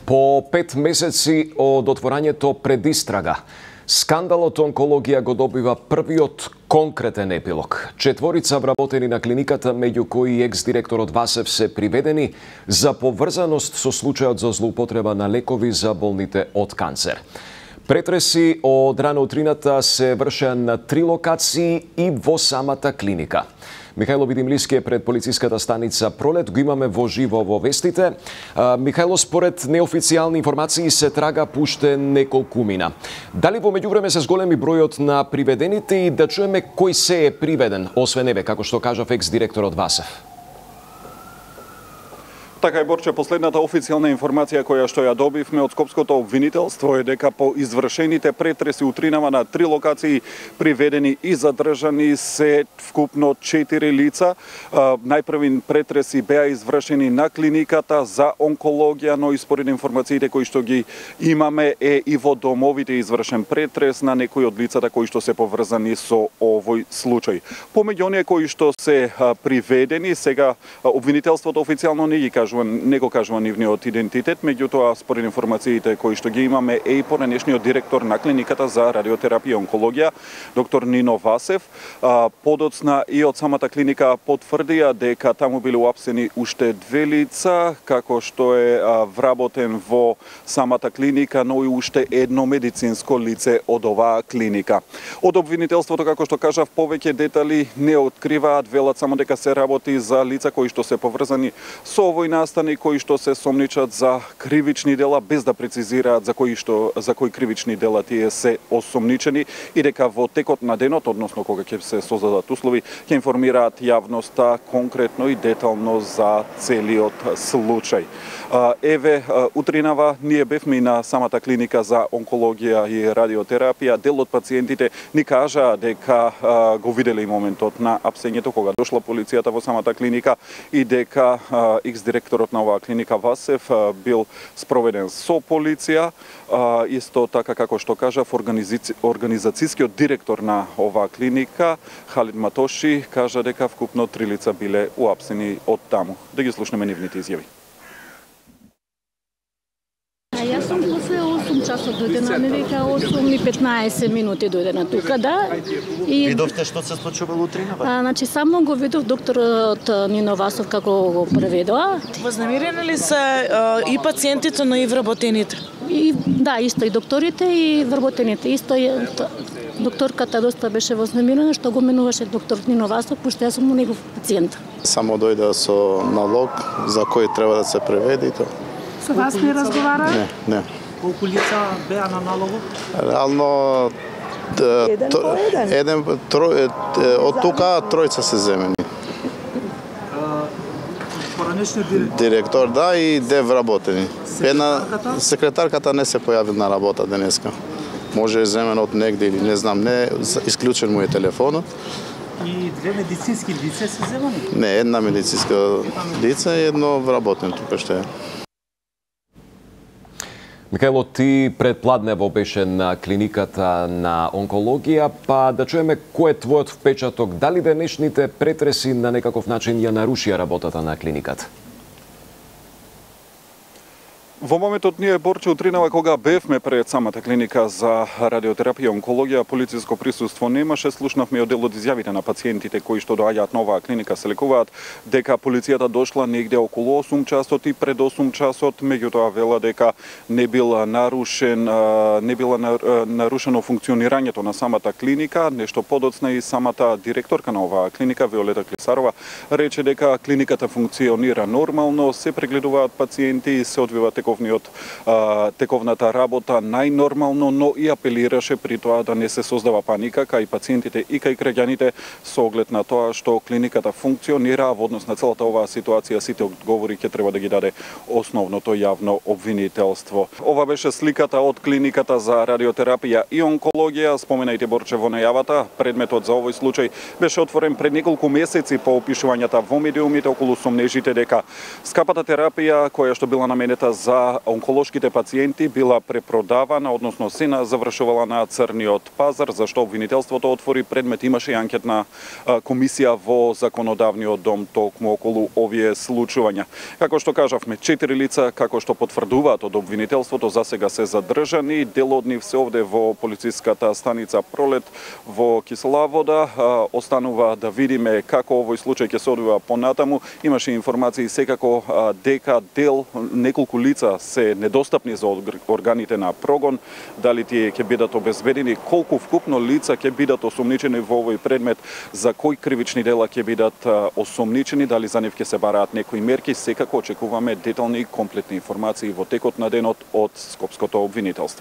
По 5 месеци од отворањето пред истрага, скандалот онкологија го добива првиот конкретен епилог. Четворица вработени на клиниката, меѓу кои екс-директорот Васев, се приведени за поврзаност со случајот за злоупотреба на лекови за болните од канцер. Претреси од рано утрината се вршеа на 3 локации и во самата клиника. Михајло Видимлиски е пред полициската станица Пролет, го имаме во живо во вестите. Михајло, според неофицијални информации се трага пуште неколку мина. Дали во меѓувреме се зголеми бројот на приведените и да чуеме кој се е приведен, освен еве, како што кажав екс-директорот Васев? Така е, Борче, последната официјална информација која што ја добивме од Скопското обвинителство е дека по извршените претреси утринава на 3 локации приведени и задржани се вкупно 4 лица. Најпрви претреси беа извршени на клиниката за онкологија, но и според информациите кои што ги имаме е и во домовите извршен претрес на некои од лицата кои што се поврзани со овој случај. Помеѓу оние кои што се приведени, сега обвинителството официјално не го кажува нивниот идентитет, меѓутоа според информациите кои што ги имаме е и поранешниот директор на клиниката за радиотерапија и онкологија, доктор Нино Васев. Подоцна и од самата клиника потврдија дека таму биле уапсени уште 2 лица, како што е вработен во самата клиника, но и уште едно медицинско лице од оваа клиника. Од обвинителството, како што кажав, повеќе детали не откриваат, велат само дека се работи за лица кои што се поврзани со овој настани, кои што се сомничат за кривични дела, без да прецизираат за кои кривични дела тие се осомничени, и дека во текот на денот, односно кога ќе се создадат услови, ќе информираат јавноста конкретно и детално за целиот случај. Еве, утринава ние бевме на самата клиника за онкологија и радиотерапија. Дел од пациентите ни кажаа дека го виделе моментот на апсењето кога дошла полицијата во самата клиника и дека екс-директорот на оваа клиника Васев бил спроведен со полиција. Исто така, како што кажав, организацијскиот директор на оваа клиника Халид Матоши кажа дека вкупно 3 лица биле уапсени од таму. Да ги слушнеме нивните изјави. Јас сум после 8 часот дојдена, не дека 8 и 15 минути дојдена тука, да. И видовте што се случувало утринава? Значи само го видов докторот Нино Васов како го преведоа. Вознемирени ли се и пациентите, но и вработените? Да, исто и докторите и вработените. Исто докторката доста беше вознемирена што го менуваше доктор Нино Васов, пошто јас сум негов пациент. Само дојде со налог за кој треба да се преведе и тоа. Со вас не разговара? Не. Колку лица беа на налогот? Реално од тука тројца се земени. Поранешниот директор, да, и 2 вработени. Секретарката не се појави на работа денеска. Може е земен од негде или не знам, не исклучен му е телефонот. И 2 медицински лица се земени? Не, една медицинска лица и едно вработен тука што е. Михајло, ти предпладнево беше на клиниката на онкологија, па да чуеме кој е твојот впечаток, дали денешните претреси на некаков начин ја нарушија работата на клиниката? Во моментот ние, Борче, утринава кога бевме пред самата клиника за радиотерапија и онкологија, полициско присуство немаше. Слушнавме од дел од изјавите на пациентите кои што доаѓаат на оваа клиника, се лекуваат, дека полицијата дошла негде околу 8 часот и пред 8 часот, меѓутоа вела дека не било нарушено функционирањето на самата клиника. Нешто подоцна и самата директорка на оваа клиника, Виолета Клисарова, рече дека клиниката функционира нормално, се прегледуваат пациенти и се одвива тековната работа најнормално, но и апелираше при тоа да не се создава паника кај пациентите и кај граѓаните со оглед на тоа што клиниката функционира. Во однос на целата оваа ситуација сите одговори ќе треба да ги даде основното јавно обвинителство. Ова беше сликата од клиниката за радиотерапија и онкологија. Споменајте, Борче, во најавата, предметот за овој случај беше отворен пред неколку месеци по опишувањата во медиумите околу сомнежите дека скапата терапија која што била наменета за дека онколошките пациенти била препродавана, односно се завршувала на црниот пазар, зашто обвинителството отвори предмет. Имаше и анкетна комисија во законодавниот дом токму околу овие случувања. Како што кажавме, 4 лица, како што потврдуваат од обвинителството, засега се задржани. Дел од нив се овде во полициската станица Пролет во Кисловода. Останува да видиме како овој случај ќе се одвива понатаму. Имаше информации секако дека дел, неколку лица се недостапни за органите на прогон. Дали тие ќе бидат обезбедени, колку вкупно лица ќе бидат осомничени во овој предмет, за кои кривични дела ќе бидат осомничени, дали за нив ќе се бараат некои мерки, секако очекуваме детални и комплетни информации во текот на денот од Скопското обвинителство.